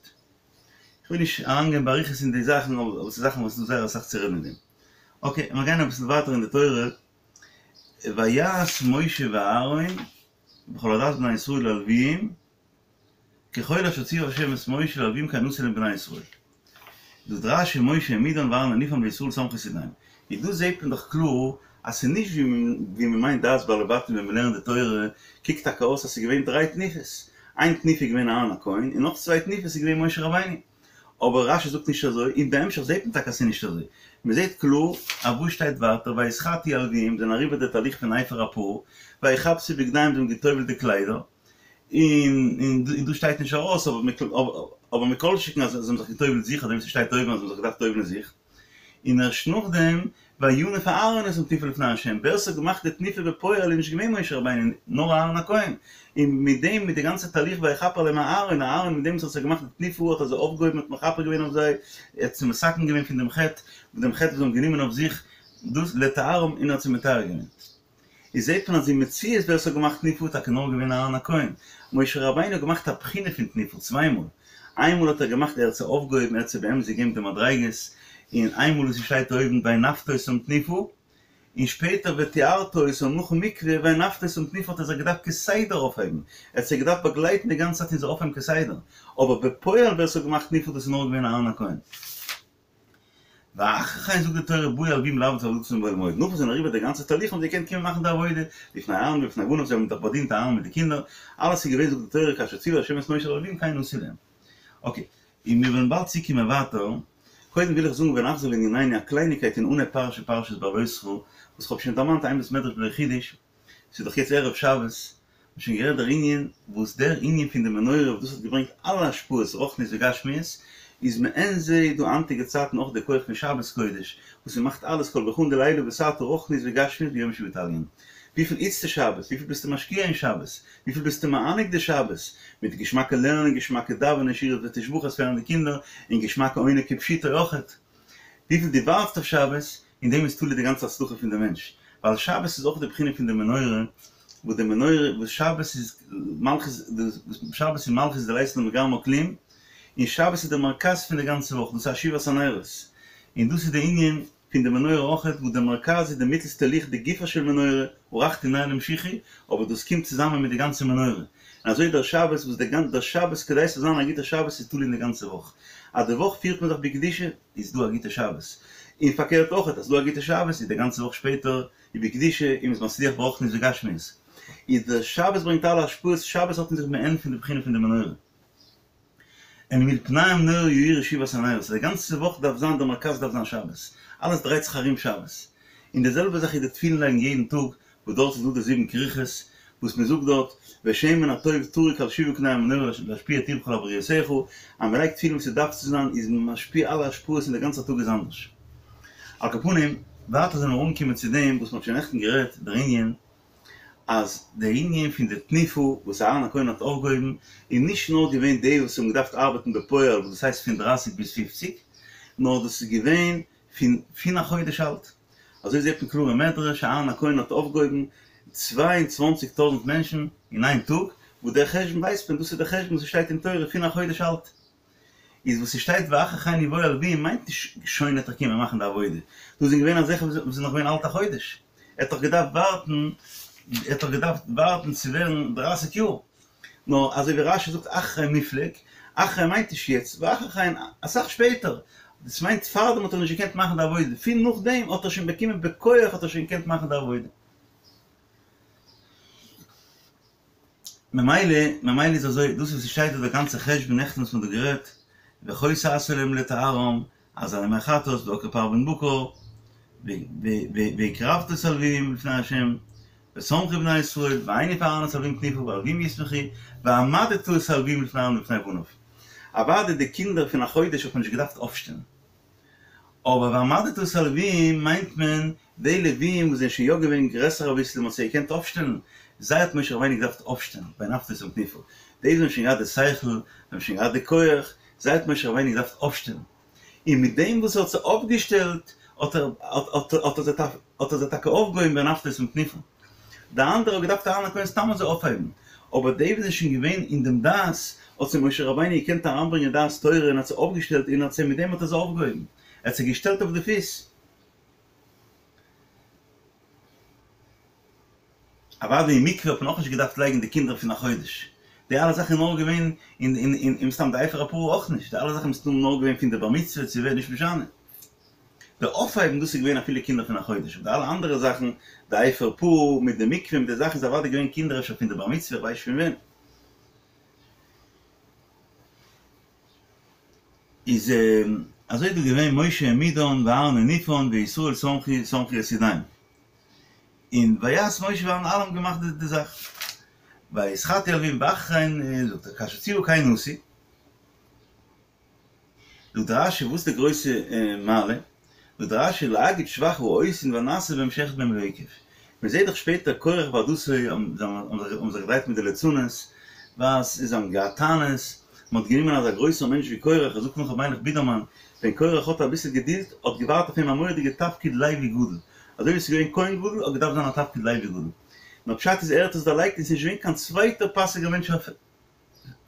כ'וויל נישט אריינגיין באריכות אין די זאכן אבער ס'איז זאכן וואס איז דא זייער אסאך צו רעדן אין דעם. אקעי, מיר גייען אביסל ווייטער אין די תורה, ויעש משה ואהרן וכל עדת בני ישראל ללוויים, ככל אשר ציוה ה' את משה ללוויים כן עשו להם בני ישראל. זאגט רש"י משה העמידן ואהרן הניפן וישראל סמכו את ידיהם. און דא זעהט מען דאך קלאר אז ס'איז נישט ווי מ'מיינט דעת בעלי בתים ווען מ'לערנט די תורה, קוקט טאקע אויס אז ס'איז געווען דריי תנופות, איין תנופה איז געווען אהרן הכהן און נאך צוויי תנופות איז געווען משה רבינו. אבער רש"י זאגט נישט אזוי, און בהמשך זעהט מען טאקע אז ס'איז נישט אזוי. מ'זעהט קלאר אז וואס שטייט ווייטער ויתחטאו הלוויים זענען אריבער די תהליך פון אפר הפרה, ויכבסו בגדיהם זיי האבן גע'טובל'ט די קליידער, און דא שטייט נישט ארויס אבער מכל שכן אז זיי האבן זיך גע'טובל'ט זיך אזוי ווי ס'שטייט אויבן אז זיי האבן זיך געדארפט טובל'ן זיך, און ערשט נאכדעם וינף אהרן אותם תנופה לפני ה', ווער ס'האט געמאכט די תנופה בפועל איז נישט געווען משה רבינו נאר אהרן הכהן, און מיט דעם מיט די גאנצע תהליך ויכפר עליהם אהרן, אהרן מיט דעם וואס האט געמאכט די תנופה האט ער זיי אויפגעהויבן האט מכפר געווען אויף זיי, ער האט זיי מתקן געווען פון דעם חטא, דעם חטא וואס זיי האבן גענומען אויף זיך, דאס לטהרם און ער האט זיי מטהר געווען. איז זעט מען אז אין מציאות ווער ס'האט געמאכט תנופה איז טאקע נאר געווען אהרן הכהן. משה רבינו האט געמאכט א בחינה פון תנופה צוויי מאל. איינמאל האט ער געמאכט ער האט זיי אויפגעהויבן ער האט זיי באמת געגעבן די מדריגות, און איינמאל וואס ס'שטייט אויבן והנפת אותם תנופה, און שפעטער וטהרת אותם נאכן מקווה והנפת אותם תנופה האט ער זיי געדארפט כסדר אויפהייבן, ער האט זיי געדארפט באגלייטן די גאנצע צייט און זיי אויפהייבן כסדר, אבער בפועל ווער ס'האט געמאכט תנופה דאס איז נאר געווען אהרן הכהן. ואחרי כן זאגט די תורה באו הלווים לעבוד את עבודתם באוהל מועד, נאך וואס זיי זענען אריבער די גאנצע תהליך האבן זיי געקענט קומען מאכן די עבודה, לפני אהרן ולפני בניו זיי האבן דאך באדינט אהרן מיט די קינדער, אלעס איז געווען זאגט די תורה כאשר ציוה ה' את משה ללווים כן עשו להם. אקעי, און מיר וועלן באלד צוקומען ווייטער, קודם וויל איך זאגן ונחזור לענינינו א קלייניקייט אין אנהייב פרשה פרשת בהעלותך, וואס כ'האב שוין דערמאנט אין בית מדרש בלא חידוש, ס'איז דאך יעצט ערב שבת. מ'האט שוין גערעדט דער ענין וואס דער ענין פון די מנורה וואס דאס האט געברענגט אלע השפעות רוחניות וגשמיות, איז מעין זה דא היינטיגע צייטן אויך די כח פון שבת קודש וואס ס'מאכט אלעס כל ברכאן דלעילא בתתא רוחניות וגשמיות ביומא שהוא תליין. וויפיל היטסטו שבת? וויפיל ביסטו משקיע אין שבת? וויפיל ביסטו מענג די שבת? מיט געשמאקע לערנען, געשמאקע דאווענען, שירות ותשבחות פאר די קינדער, און געשמאקע עונג כפשוטו אויכעט. וויפיל דו ווארטסט אויף שבת, אין דעם איז תלוי די גאנצע הצלחה פון די מענטש. ווייל שבת איז אויך די בחינה פון די מנורה, וואס די מנורה, וואס שבת איז מלכות, שבת איז מלכות דלית לה מגרמה כלום, און שבת איז די מרכז פון די גאנצע וואך, דאס איז שבעת הנרות. און דאס איז די ענין פון די מנורה אויכעט, וואס די מרכז איז די מיטלסטע ליכט די גופה של מנורה, ערכתי נר למשיחי, אבער דאס קומט צוזאמען מיט די גאנצע מנורה. און אזוי דער שבת, וואס דער גאנ דער שבת כדי ס'זאל זיין א גוטער שבת איז תלוי אין די גאנצע וואך. אז די וואך פירט מען זיך בקדושה, איז דא א גוטע שבת. און פארקערט אויכעט, אז ס'דא א גוטע שבת, איז די גאנצע וואך שפעטער איז בקדושה, און מ'איז מצליח ברוחניות וגשמיות. איז דער שבת ברענגט אלע השפעות, שבת האט אין זיך מעין פון די בחינה פון די מנורה. אל מול פני המנורה יאירו שבעת הנרות, די גאנצע וואך דארף זיין די מרכז דארף זיין שבת, אלעס דרייט זיך ארום שבת, און די זעלבע זאך איז די תפילין לייגן יעדן טאג, וואס דארט איז דא די זיבן כריכות, וואס מען זאגט דארט, ושמן הטוב טרוק על שבעה קני המנורה להשפיע טובך על בריותיך, אז מען לייגט תפילין ווי ס'דארף צו זיין איז מען משפיע אלע השפעות און די גאנצע טאג איז אנדערש. על כל פנים, ווייטער זענען מיר אנגעקומען צו דעם וואס מען האט שוין נעכטן גערעדט דער ענין, אז דער ענין פון די תנופה וואס אהרן הכהן האט אויפגעהויבן איז נישט נאר געווען די וואס האבן געדארפט ארבעטן בפועל וואס דאס הייסט פון דרייסיג ביז פופציג, נאר דאס איז געווען פון פון א חודש אלט. אזוי זעט מען קלאר אין מדרש, אהרן הכהן האט אויפגעהויבן 22 טויזנט מענטשן אין איין טאג, וואס דער חשבון ווייסט מען, דאס איז דער חשבון וואס עס שטייט אין תורה פון א חודש אלט. איז וואס ס'שטייט ואחרי כן יבואו הלוים מיינט נישט שוין עט ער קומען מאכן די עבודה, דא זענען געווען אזעלכע וואס זענען נאך געווען אלט א חודש, ער האט דאך געדארפט ווארטן, ער האט דאך געדארפט ווארטן צו ווערן דרייסיג יאר, נאר אזוי ווי רש"י זאגט אחרי מופלג, אחרי מיינט נישט יעצט, ואחרי כן אסאך שפעטער, דאס מיינט פארדעם האט ער נישט געקענט מאכן די עבודה, פון נאכדעם האט ער שוין באקומען בכח האט ער שוין געקענט מאכן די עבודה. ממילא, ממילא איז אזוי, דאס וואס ס'שטייט דא דער גאנצער חשבון נעכטן וואס מ'האט דא גערעדט, וכה תעשה להם לטהרם, אז על ימי חטאת ועקר פר בן בקר, והקרבת את הלוים לפני ה', ושמחו בני ישראל, והניף אהרן את הלוים תנופה, והלוים ישמחו, והעמדת את הלוים לפני אהרן ולפני בניו. אוודאי די קינדער פון א חודש האט מען נישט געדארפט אויפשטעלן. אבער והעמדת את הלווים מיינט מען די לווים וואס זענען שוין יא געווען גרעסער אביסל און מען האט זיי געקענט אויפשטעלן, זיי האט משה רבינו געדארפט אויפשטעלן, והנפת אותם תנופה, די וואס האבן שוין געהאט די שכל, זיי האבן שוין געהאט די כח, זיי האט משה רבינו געדארפט אויפשטעלן, און מיט דעם וואס ער האט זיי אויפגעשטעלט האט ער האט ער זיי טאקע אויפגעהויבן והנפת אותם תנופה. די אנדערע האט געדארפט אהרן הכהן סתם אזוי אויפהייבן, אבער די וואס זענען שוין געווען אין דעם דעת, האט זיי משה רבינו געקענט אריינברענגען דעת תורה און האט זיי אויפגעשטעלט און האט זיי מיט דעם האט ער זיי אויפגעהויבן, ער האט זיי געשטעלט אויף די פיס. אוודאי אין מקווה האט מען אויך נישט געדארפט לייגן די קינדער פון א חודש, די אלע זאכן איז נאר געווען אין אין אין מסתם די אפר הפרה אויך נישט, די אלע זאכן מסתם נאר געווען פון די בר מצוה צו ווער נישט משנה. די אויפהייבן דאס איז געווען אפילו קינדער פון א חודש, אבער די אלע אנדערע זאכן, די אפר פרה מיט די מקווה מיט די זאכן איז אוודאי געווען קינדער אפשר פון די בר מצוה איך ווייס נישט פון ווען. איז אזוי דא געווען משה העמידן ואהרן הניפן וישראל סמכו סמכו את ידיהם. און ויעש משה ואהרן אלע האבן געמאכט די זאך. ויתחטאו הלוים ואחרי כן זאגט ער כאשר צוה כן עשו. זאגט רש"י וואס איז די גרויסע מעלה? זאגט רש"י להגיד שבח העושין והנעשה בהם שאחד מהם לא עיכב. מען זעט דאך שפעטער קורח ועדתו האבן זיך געדרייט מיט די לצנות, וואס זיי האבן געהאט טענות, מען האט גענומען אזא גרויסער מענטש ווי קורח, ער זאגט נאך ר' מיילעך בידערמאן, ווען קורח האט אביסל געדולד האט געווארט אויף אים א מורא'דיגע תפקיד לוי גדול, אזוי ווי עס איז געווען כהן גדול האט געדארפט זיין א תפקיד לוי גדול, נאר פשט איז ער האט עס דערלייגט און עס איז נישט געווען קיין צווייטער פאסיגער מענטש אויף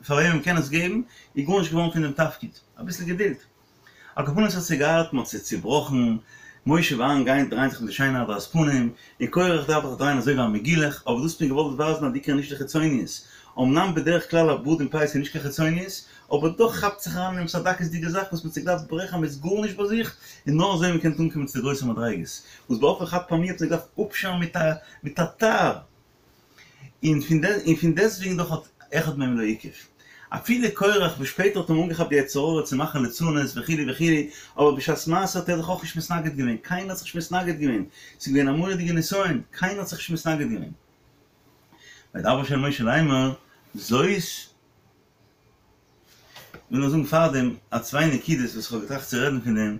פאר וועם מ'קען עס געבן, איז גארנישט געווארן פון דעם תפקיד. אביסל געדולד. על כל פנים ס'האט זיי געארט, מ'האט זיי צובראכן, משה ואהרן גייען דרייען זיך מיט די שיינע הדרת פנים, און קורח דארף זיך דרייען אזוי ווי א מגולח, אבער דאס האט מען געוואלט ווייזן אז די עיקר נישט די חיצוניות. אמנם בדרך כלל א בארד און פאות איז נישט קיין חיצוניות, אבער דאך כאפט זיך אריין אין עפעס א דקות'דיגע זאך וואס מ'האט זיך געדארפט ברעכן אז מ'איז גארנישט ביי זיך, און נאר אזוי מ'קען אנקומען צו די גרויסע מדריגות. וואס באופן חד פעמי האט מען געדארפט אפשארן מיט א מיט א תער. און פון דעס און פון דעסטוועגן דאך האט אחד מהם לא עיכב. אפילו קורח וואס שפעטער האט אים אנגעכאפט די יצר הרע צו מאכן לצנות וכו' וכו', אבער בשעת מעשה האט ער זיך אויך נישט מתנגד געווען, קיינער האט זיך נישט מתנגד געווען, ס'איז געווען א מורא'דיגע נסיון, קיינער האט זיך נישט מתנגד געווען. וידבר ה' אל משה לאמר, זאת, כ'וויל נאר זאגן פארדעם א צוויי נקודות וואס כ'האב געטראכט צו רעדן פון דעם,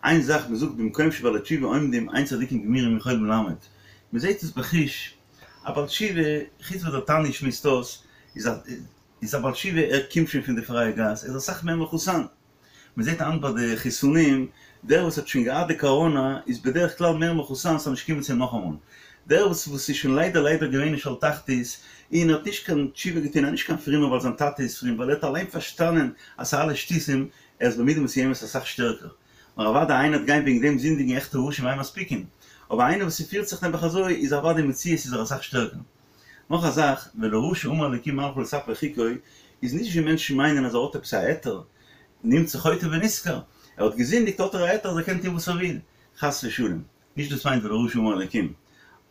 איין זאך מ'זאגט במקום שבעלי תשובה עומדים אין צדיקים גמורים יכולים לעמוד, מ'זעט עס בחוש, א בעל תשובה, חוץ וואס דער תניא שמועסט אויס, איז א איז א בעל תשובה ער קומט שוין פון די פרייע גאס, ער איז אסאך מער מחוסן. מען זעט היינט ביי די חיסונים, דער וואס האט שוין געהאט די קאראנא איז בדרך כלל מער מחוסן ס'זאל נישט קומען צו אים נאכאמאל. דער וואס וואס איז שוין ליידער ליידער געווען אין שאול תחתית און האט נישט קיין תשובה געטון, ער איז נישט קיין פרומער ווייל זיין טאטע איז פרום, ווייל ער האט אליין פארשטאנען אז ס'איז אלעס שטותים, ער איז במידה מסוימת אסאך שטערקער. נאר אוודאי איינער וועט גיין וועגן דעם זינדיגן עכטע רשעים אין מספיקין, אבער איינער וואס ס'פירט זיך נעבעך אזוי איז אוודאי מציאות איז ער אסאך שטערקער. נאך א זאך, ולרשע אמר אלקים מה לך לספר חוקי, איז נישט ווי מענטשן מיינען אז ער האט עפעס א היתר, נמצא חוטא ונשכר, ער האט געזינדיגט האט ער א היתר אז ער קען טון וואס ער וויל, חס ושלום, נישט דאס מיינט ולרשע אמר אלקים.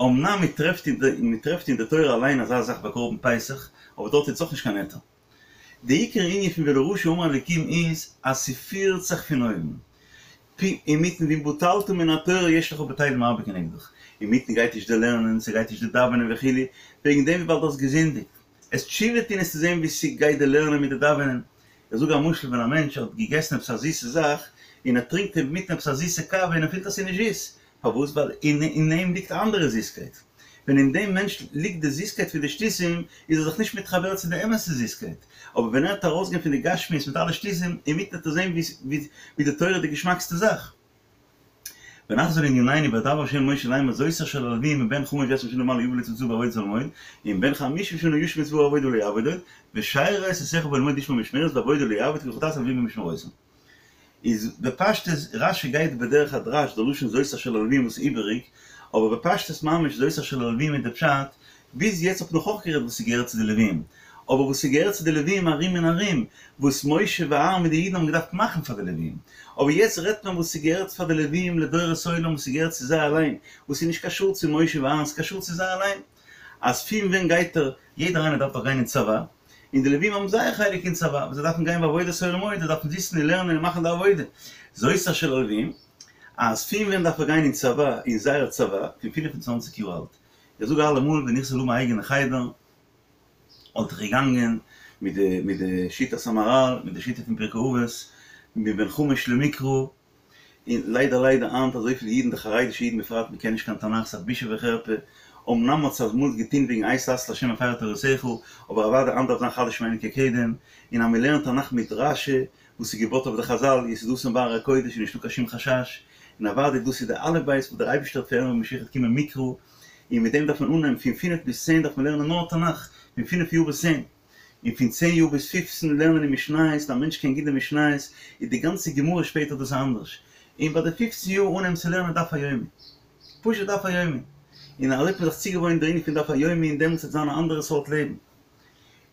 אמנם מען טרעפט מען טרעפט אין די תורה אליין אזא זאך ביי קרבן פסח, אבער דארט איז אויך נישט קיין היתר. די עיקר ענין פון ולרשע אמר אלקים איז אז ס'פירט זיך פון אויבן. פ אינמיטן ואם בטלת מן התורה יש לך בטלים הרבה כנגדך. אינמיטן גייט נישט די לערנען, ס'גייט נישט די דאווענען וכו', וועגן דעם וויבאלד דו האסט געזינדיגט. עסט תשובה טון עסטו זען ווי ס'גייט די לערנען מיט די דאווענען. איך זאג א משל ווען א מענטש האט געגעסן עפעס א זיסע זאך און ער טרינקט אינמיטן עפעס א זיסע קאווע און ער פילט אז ס'איז נישט זיס, פארוואס? ווייל אין אים ליגט א אנדערע זיסקייט. ווען אין דעם מענטש ליגט די זיסקייט פון די שטותים, איז ער זיך נישט מתחבר צו די אמת'ע זיסקייט. אבער ווען ער וועט ארויסגיין פון די גשמיות מיט אלע שטותים, אינמיטן וועט ער זען ווי די תורה איז די געשמאקסטע זאך. ונחזור לענינינו וידבר ה' אל משה לאמר זאת אשר ללוויים מבן חמש עשרה שנה ומעלה יבא לצבא בעבודת אהל מועד, ומבן חמישים שנה ישוב מצבא העבודה ולא יעבוד עוד, ושרת את אחיו באהל מועד לשמור משמרת בעבודה לא יעבוד כי חטאת הלוויים במשמרותם. איז בפשטות רשי גייט בדרך הדרש די לשון זאת אשר ללוויים וואס איז איבעריג, אבער בפשטות ממש זאת אשר ללוויים איז די פשט, ביז יעצט האט מען נאך אויך גערעדט וואס ס'געהערט צו די לוויים, אבער וואס ס'געהערט צו די לוויים ארום און ארום, וואס משה ואהרן מיט די אידן האבן געדארפט מאכן פאר די לוויים, אבער יעצט רעדט מען וואס ס'געהערט פאר די לוויים לדורות עולם וואס ס'געהערט צו זיי אליין, וואס איז נישט קשור צו משה ואהרן ס'קשור צו זיי אליין, אז פון ווען גייט ער, יעדער איינער דארף דאך גיין אין צבא, און די לווים האבן זייער חלק אין צבא, וואס זיי דארפן גיין בעבודת אוהל מועד, זיי דארפן זיצן און לערנען און מאכן די עבודה. זאת אשר ללוויים, אז פון ווען דארף ער גיין אין צבא, אין זייער צבא, פון פינף און צוואנציג יאר אלט. איך זאג אלעמאל, ווען איך זאל האבן א אייגענע חדר, וואלט איך געגאנגען מיט די מיט די שיטת המהר"ל, מיט די שיטה פון פרקי אבות, מבן חמש למקרא, און ליידער ליידער היינט אזויפיל אידן די חרדישע אידן בפרט מען קען נישט קיין תנך ס'איז א בושה וחרפה, אמנם האט זיך אמאל געטון וועגן עת לעשות לה' הפרו תורתך, אבער אוודאי היינט דארף זיין חדש שמנו כקדם, און אז מען לערנט תנך מיט רשי וואס איז געבויט אויף די חזל יסודתן בהר הקודש איז נישטא קיין שום חשש, און אוודאי דאס איז די אלף בית וואס דער אייבערשטער האט פארענט ווען משיח וועט קומען מקרא, און מיט דעם דארף מען אנהייבן פון פינף ביז צען דארף מען לערנען נאר תנך, פון פינף יאר ביז צען. און פון צען יאר ביז פופצן לערנען אין משניות, און א מענטש קען גוט די משניות, איז די גאנצע גמרא שפעטער דאס אנדערש. און ביי די פופצן יאר אנהייבן צו לערנען דף היומי. פשוט דף היומי. און אזוי האט מען זיך צוגעוואוינט דער ענין פון דף היומי און דעמאלטס וועט זיין א אנדערע סארט לעבן.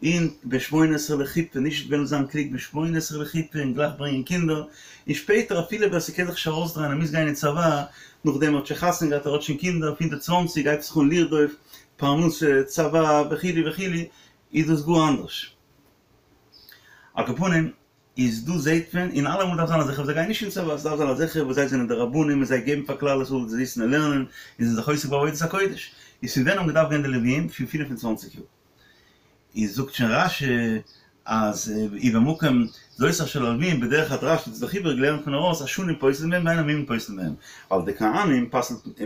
און בן שמונה עשרה לחופה, נישט וועלן זיין קלוג בן שמונה עשרה לחופה און גלייך ברענגען קינדער, און שפעטער אפילו ווער ס'קען זיך נישט ארויסדרייען ער מוז גיין אין צבא, נאכדעם ער האט שוין חתונה געהאט ער האט שוין קינדער פון די צוואנציג הייבט זיך אן לרדוף פרנסה, צבא, וכו' וכו', איז דאס גאר אנדערש. על כל פנים, איז דא זעהט מען, און אלעמאל דארף זיין אזעלכע וואס זיי גייען נישט אין צבא, ס'דארף זיין אזעלכע וואס זיי זענען די רבנים און זיי געבן פאר כלל ישראל זיי זיצן און לערנען און זענען זיך עוסק בעבודת הקודש. איז פון ווען האבן געדארפט גיין די לוויים? פון פינף און צוואנציג יאר. איז זאגט שוין רשי אז ובמקום זאת אשר ללוויים בדרך הדרש איז דאך איבעריג לערנט מען ארויס אז שנים פוסלין בהם ואין המומין פוסלין בהם ווייל די כהנים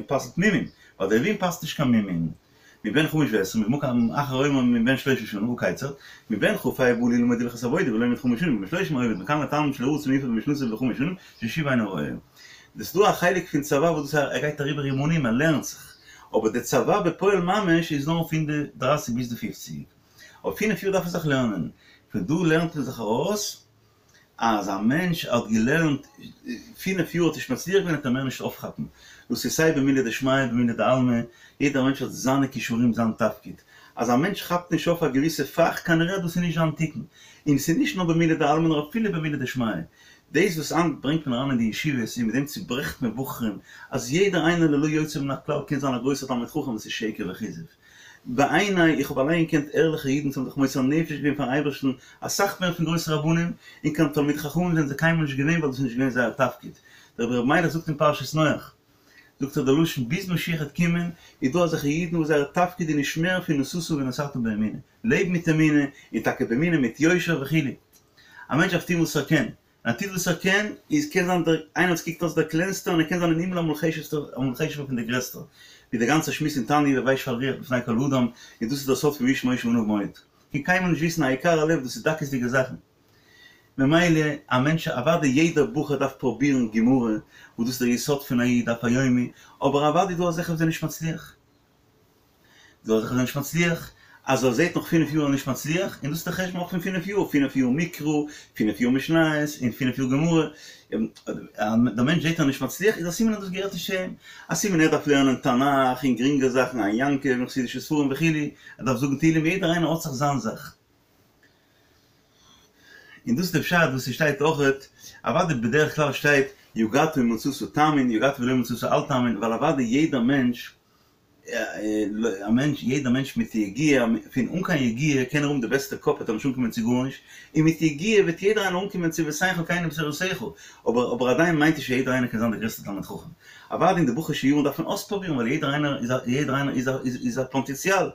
פסל'ט מומין ווייל די לוויים פסל'ט נישט קיין מומין מבן חמש ועשרים ובמקום אחר אומר מבן שלושים שנה הא כיצד מבן כ"ה בא ללמוד הלכות עבודה ולומד חמש שנים ובן שלושים עובד מכאן לתלמיד שלא רצה מיוחד במשנתו בחמש שנים ששוב אינו רואה. דאס איז דא א חלק פון צבא וואס דאס ער גייט אריבער אימונים ער לערנט זיך אבער די צבא בפועל ממש איז נאר פון די דרייסיג ביז די פופציג. אויף פינף יאר דארף ער זיך לערנען. פון דא לערנט מען זיך ארויס אז א מענטש האט געלערנט פינף יאר האט נישט מצליח געווען וועט ער מער נישט אויפכאפן. דאס איז סיי במילי דשמיא במילי דעלמא, יעדער מענטש האט זיינע כישורים זיין תפקיד. אז א מענטש כאפט נישט אויף א געוויסע פאך כנראה דאס איז נישט זיין תיקון. און ס'איז נישט נאר במילי דעלמא נאר אפילו במילי דשמיא. דאס וואס היינט ברענגט מען אריין אין די ישיבות און מיט דעם צוברעכט מען בחורים אז יעדער איינער ללא יוצא מן הכלל קען זיין א גרויסער תלמיד חכם דאס איז שקר וכזב. בעיני, איך האב אליין געקענט ערליכע אידן וואס האבן זיך מוסר נפש געווען פארן אייבערשטן אסאך מער פון גרויסע רבנים, און קיין תלמיד חכמים זענען זיי קיינמאל נישט געווען ווייל דאס איז נישט געווען זייער תפקיד. דער רבי ר' מיילעך זאגט אין פרשת נח. זאגט ער די לשון ביז משיח העט קומען איז דא אזעלכע אידן וואס זייער תפקיד איז נישט מער פון נשאת ונתת באמונה, לעב מיט אמונה, און טאקע באמונה מיט יושר וכו'. א מענטש דארף טון וואס ער קען, און ער טוט וואס ער קען, איז קען זיין דער איינער וואס קוקט אויס דער קלענסטער און ער קען זיין אין הימל אמאל חשוב'סטער אמאל חשוב'ער פון דער גרעסטער, ווי דער גאנצער שמועס אין תניא והוי שפל רוח בפני כל אדם, און דאס איז דער סוד פון והאיש משה עניו מאוד. קען קיינמאל נישט וויסן היקר הלב דאס איז דקות'דיגע זאכן. ממילא א מענטש אוודאי יעדער בחור דארף פרובירן גמרא, וואס דאס איז דער יסוד פון א איד דף היומי, אבער אוודאי איז דא אזעלכע וואס זענען נישט מצליח. דא אזעלכע וואס זענען נישט מצליח, אז ער זעט נאך פינף יאר ער איז נישט מצליח, און דאס איז דער חשבון אויך פון פינף יאר, פינף יאר מקרא, פינף יאר משניות, און פינף יאר גמרא, דער מענטש זעט ער איז נישט מצליח, איז א סימן אז דאס געהערט נישט צו אים, א סימן ער דארף לערנען תנך און גרינגע זאכן, עין יעקב און חסידישע ספרים וכו', ער דארף זאגן תהילים, יעדער איינער האט זיך זיין זאך. און דאס איז די פשט וואס ס'שטייט אויכעט, אוודאי בדרך כלל שטייט יגעת ומצאת תאמין, יגעת ולא מצאת אל תאמין, ווייל אוודאי יעדער מענטש, א מענטש, יעדער מענטש מיט יגיעה, פון אן קיין יגיעה קען ער האבן די בעסטע קאפ וועט ער נישט אנקומען צו גארנישט, און מיט יגיעה וועט יעדער איינער אנקומען צו ותן חלקנו בתורתך, אבער אבער עדיין מיינט נישט אז יעדער איינער קען זיין דער גרעסטער תלמיד חכם. אוודאי אין די בחור'שע יארן דארף מען אויספרובירן ווייל יעדער איינער איז א יעדער איינער איז א איז א פאטענציאל,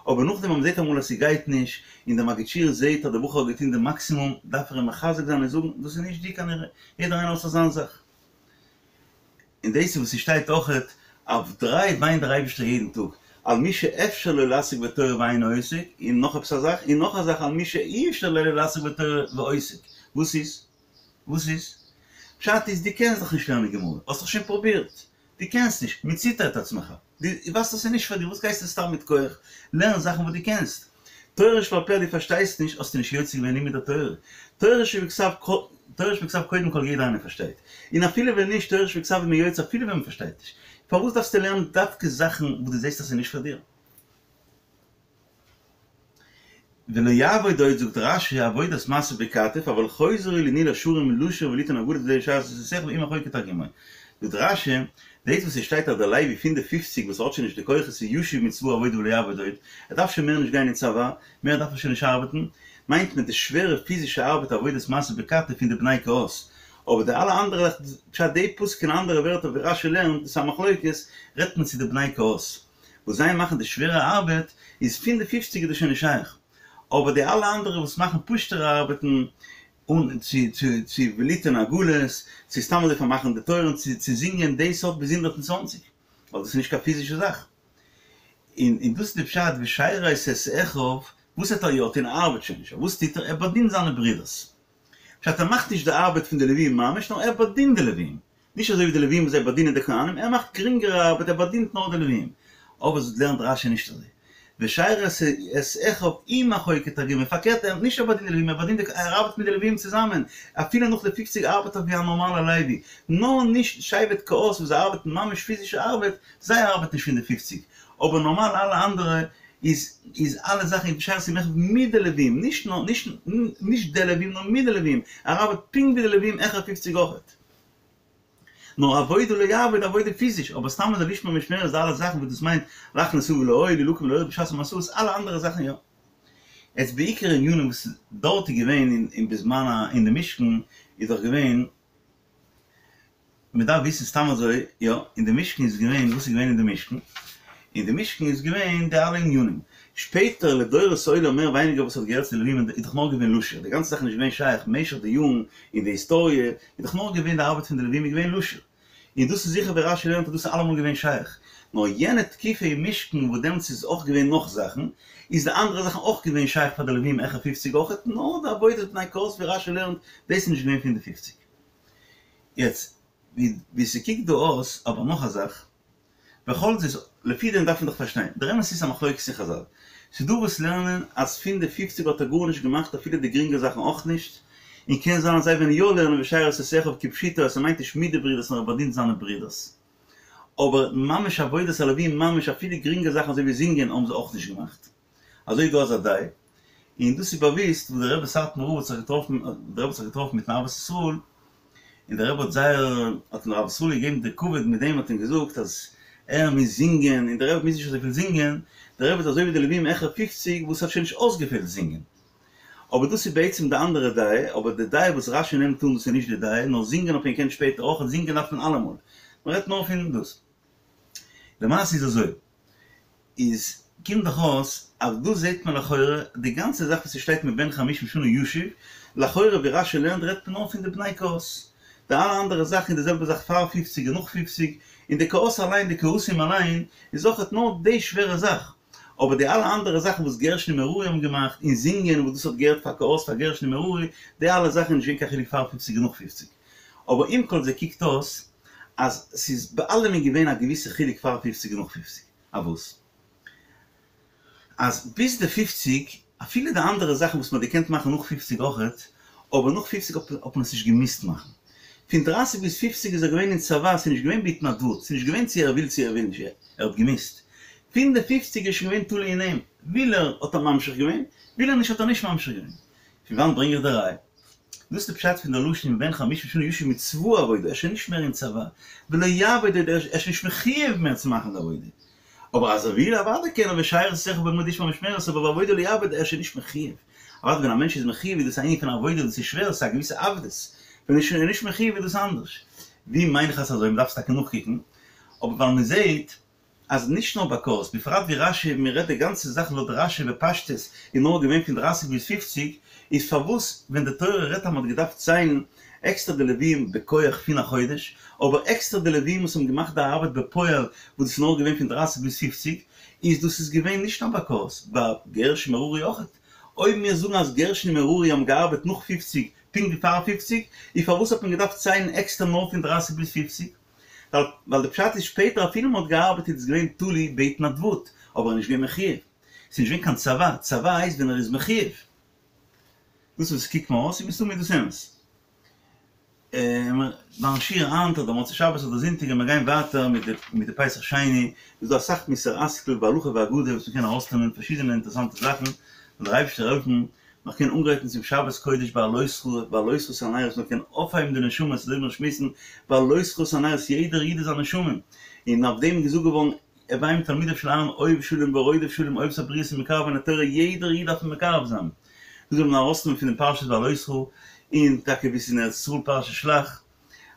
אבער נאכדעם אז מ'זעט אמאל אז ס'גייט נישט, און דער מגיד שיעור זעט אז דער בחור האט געטון די מאקסימום, דארף ער אים מחזק זיין און זאגן, דאס איז נישט דיר כנראה, יעדער איינער האט זיך זיין זאך. און דאס איז וואס ס'שטייט אויכעט, אויף דריי וויינט דער אייבערשטער יעדן טאג, על מי שאפשר לו לעסוק בתורה ואינו עוסק, און נאך עפעס א זאך, און נאך א זאך על מי שאי אפשר לו לעסוק בתורה ועוסק. וואס איז? וואס איז? פשט איז דו קענסט דאך נישט לערנען גמרא, האסט דאך שוין פרובירט, דו קענסט נישט, מיצית את עצמך, דו ווייסט אז ס'איז נישט פאר דיר, וואס גייסטו סתם מיט כח, לערן זאכן וואס דו קענסט. תורה שבעל פה דו פארשטייסט נישט, האסטו נישט יוצא געווען לימוד התורה. תורה שבכתב תורה שבכתב קודם כל יעדער איינער פארשטייט, און אפילו ווען נישט, תורה שבכתב איז מען יוצא אפילו ווען מען פארשטייט נישט. פארוואס דארפסטו לערנען דווקא זאכן וואס דו זעסט אז ס'איז נישט פאר דיר? ולא יעבוד עוד זאגט רש"י עבודת משא בכתף אבל חוזר הוא לניהול השערים לשיר וליתן הגדה זה ושרת את אחיו עם אחוי כתרגומו זאגט רש"י דאס וואס עס שטייט אז דער לוי פון די פופציג וואס האט שוין נישט די כוחות איז ישוב מצבא העבודה ולא יעבוד עוד ער דארף שוין מער נישט גיין אין צבא מער דארף ער שוין נישט ארבעטן מיינט מען די שווערע פיזישע ארבעט עבודת משא בכתף פון די בני קהת אבער די אלע אנדערע פשט די פסוק אין אנדערע ווערטער ווי רש"י לערנט דאס איז א מחלוקת רעדט מען צו די בני קהת. וואס זיי מאכן די שווערע ארבעט איז פון די פופציג איז דאס שוין נישט שייך, אבער די אלע אנדערע וואס מאכן פשוט'ערע ארבעטן און צו צו צו וליתן עגלות, צו סתם אזוי פארמאכן די טויערן, צו צו זינגען דאס האט ביז 120, ווייל דאס איז נישט קיין פיזישע זאך. און און דאס איז די פשט ושרת את אחיו, וואס האט ער יא טון? ער ארבעט שוין נישט, אבער וואס טוט ער? ער באדינט זיינע ברודערס. פשט ער מאכט נישט די ארבעט פון די לווים ממש, נאר ער באדינט די לווים. נישט אזוי ווי די לווים וואס זיי באדינען די כהנים, ער מאכט גרינגערע ארבעט, ער באדינט נאר די לווים. אבער זאת לערנט רש"י נישט אזוי. ושרת את אחיו עם אחוי כתרגומו, פארקערט ער נישט ער באדינט די לווים, ער באדינט די, ער ארבעט מיט די לווים צוזאמען, אפילו נאך די פופציג ארבעט ער ווי א נארמאלער לוי, נאר נישט שבט קהת וואס זיי ארבעטן ממש פיזישע ארבעט, זיי ארבעטן נישט פון די פופציג, אבער נארמאל אלע אנדערע איז איז אלע זאכן ושרת עם אחיו מיט די לווים, נישט נאר נישט נישט די לווים נאר מיט די לווים, ער ארבעט פונקט ווי די לווים העכער פופציג אויכעט. נאר עבודה לא יעבוד עבודה פיזיש, אבער סתם אזוי לשמור משמרת די אלע זאכן וואס דאס מיינט להכניס האבל לאוהל להילקם ולהוריד בשעת המסעות אלע אנדערע זאכן יא. יעצט בעיקר ענינים וואס דארט איז געווען אין בזמן ה אין די משכן איז דאך געווען מען דארף וויסן סתם אזוי יא אין די משכן איז געווען וואס איז געווען אין די משכן אין די משכן איז געווען די אלע ענינים שפעטער לדורות עולם מער ווייניגער וואס האט געהערט צו די לווים איז דאך נאר געווען לשיר די גאנצע זאך איז נישט געווען שייך משך די יארן אין די היסטאריע איז דאך נאר געווען די ארבעט פון די לווים איז געווען לשיר און דאס איז זיכער ווי רש"י לערנט אז דאס איז אלעמאל געווען שייך נאר יענע תקופה אין משכן וואס דעמאלטס איז אויך געווען נאך זאכן איז די אנדערע זאכן אויך געווען שייך פאר די לווים העכער פופציג אויכעט נאר די עבודת בני קהת ווי רש"י לערנט דאס איז נישט געווען פון די פופציג. יעצט ווי ס'קוקט דא אויס, אבער נאך א זאך, בכל זאת, לפי דעם דארף מען דאך פארשטיין, דער אמת איז א מחלוקת אין חזל, ס'איז דא וואס לערנען אז פון די פופציג האט ער גארנישט געמאכט אפילו די גרינגע זאכן אויך נישט, און קען זיין אז זיי וועלן יא לערנען ושרת את אחיו כפשוטו אז ס'מיינט נישט מיט די ברידערס נאר ער באדינט זיינע ברידערס. אבער ממש עבודת הלווים ממש אפילו גרינגע זאכן אזוי ווי זינגען האבן זיי אויך נישט געמאכט. אזוי איז דא אזא דעה, און דאס איז באוויסט וואס דער רבי סאטמאר רב האט זיך געטראפן, דער רבי האט זיך געטראפן מיטן אהבת ישראל, און דער רבי האט זייער, האט אים דער אהבת ישראל געגעבן די כבוד מיט דעם האט אים געזאגט אז ער מוז זינגען, און דער רבי מוז נישט אזויפיל זינגען, דער רבי איז אזוי ווי די לווים העכער פופציג וואס האט שוין נישט אויסגעפעלט זינגען. אבער דאס איז בעצם די אנדערע דעה, אבער די דעה וואס רש"י נעמט אן דאס איז נישט די דעה, נאר זינגען האט מען געקענט שפעטער אויך, זינגען דארף מען אלעמאל, מען רעדט נאר פון דאס. למעשה איז אזוי, איז קומט דאך אויס אז דא זעט מען לכאורה די גאנצע זאך וואס ס'שטייט מבן חמישים שנה ישוב, לכאורה ווי רש"י לערנט רעדט מען נאר פון די בני קהת, די אלע אנדערע זאכן איז די זעלבע זאך פאר פופציג און נאך פופציג, און די קהת אליין די קהתים אליין איז אויכעט נאר די שווערע זאך, אבער די אלע אנדערע זאכן וואס גרשון און מררי האבן געמאכט, און זינגען וואס דאס האט געהערט פאר קהת פאר גרשון און מררי, די אלע זאכן איז נישט געווען קיין חילוק פאר פופציג און נאך פופציג. אבער עם כל זה קוקט אויס אז ס'איז ביי אלעמען געווען א געוויסע חילוק פאר פופציג און נאך פופציג. א וואס? אז ביז די פופציג, אפילו די אנדערע זאכן וואס מ'האט געקענט מאכן נאך פופציג אויכעט, אבער נאך פופציג האט מען עס נישט געמוזט מאכן. פון דרייסיג ביז פופציג איז ער געווען אין צבא, ס'איז נישט געווען בהתנדבות, ס'איז נישט געווען צו ער וויל צו ער וויל נישט, ער האט געמוזט. פון די פופציג איז שוין געווען תלוי אין אים, וויל ער האט ער ממשיך געווען, וויל ער נישט האט ער נישט ממשיך געווען. פון וואנט ברענג איך די ראיה? דאס איז די פשט פון די לשון מבן חמישים שנה ישוב מצבא העבודה, ער איז שוין נישט מער אין צבא, ולא יעבוד עוד, ער איז שוין נישט מחויב מער צו מאכן די עבודה, אבער אז ער וויל אוודאי קען ער ושרת יתיך באהל מועד ישמר משמרת, אבער ועבודה לא יעבוד, ער איז שוין נישט מחויב. אוודאי ווען א מענטש איז מחויב איז דאס א ענין פון עבודה, דאס איז שווער, עס איז א געוויסע עבדות, ווען ער איז שוין נישט מחויב איז דאס אנדערש. ווי מיין איך אז אזוי, מען דארף עס טאקע נאכקוקן, אבער ווייל מען זעט אז נישט נאר ביי קהת, בפרט ווי רש"י, מען רעדט די גאנצע זאך לויט רש"י בפשטות איז נאר געווען פון דרייסיג ביז פופציג, איז פארוואס ווען די תורה רעדט אז מען האט געדארפט ציילן עקסטער די לוויים בכח פון א חודש, אבער עקסטער די לוויים וואס האבן געמאכט די ארבעט בפועל וואס דאס איז נאר געווען פון דרייסיג ביז פופציג, איז דאס איז געווען נישט נאר ביי קהת, ביי גרשון מררי אויכעט. אויב מיר זאגן אז גרשון און מררי האבן געארבעט נאך פופציג פונקט ווי פאר פופציג, איז פארוואס האט מען געדארפט ציילן עקסטער נאר פון דרייסיג ביז פופציג? ווייל די פשט איז שפעטער אפילו מען האט געארבעט איז עס געווען תלוי בהתנדבות, אבער ער איז נישט געווען מחויב. ס'איז נישט געווען קיין צבא, צבא הייסט ווען ער איז מחויב. דאס וואס קוקט מיר אויס איז מסתמא דאס אמת. ביים שיעור היינט אדער מוצאי שבת אדער זונטאג ווען מיר גייען ווייטער מיט די מיט די פסח שני, איז דא אסאך מוסר השכל בהלכה ואגדה וואס מ'קען ארויסנעמען פארשידענע אינטערעסאנטע זאכן, זאל דער אייבערשטער העלפן מ'זאל קענען אנגרייטן צום שבת קודש בהעלותך בהעלותך את הנרות מ'זאל קענען אויפהייבן די נשמות אזוי ווי מיר שמועסן בהעלותך את הנרות יעדער איד איז א נשמה און אויף דעם איז געזאגט געווארן הוי מתלמידיו של אהרן אוהב שלום ורודף שלום אוהב את הבריות ומקרבן לתורה יעדער איד דארף מען מקרב זיין דאס זאל מען ארויסנעמען פון דעם פרשת בהעלותך און טאקע ווי ס'איז אין ארץ ישראל פרשת שלח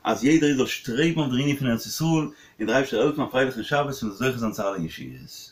אז יעדער איד זאל שטרעבן אויף דער ענין פון ארץ ישראל און דער אייבערשטער זאל העלפן א פרייליכן שבת און זאל זוכה זיין צו אלע ישועות.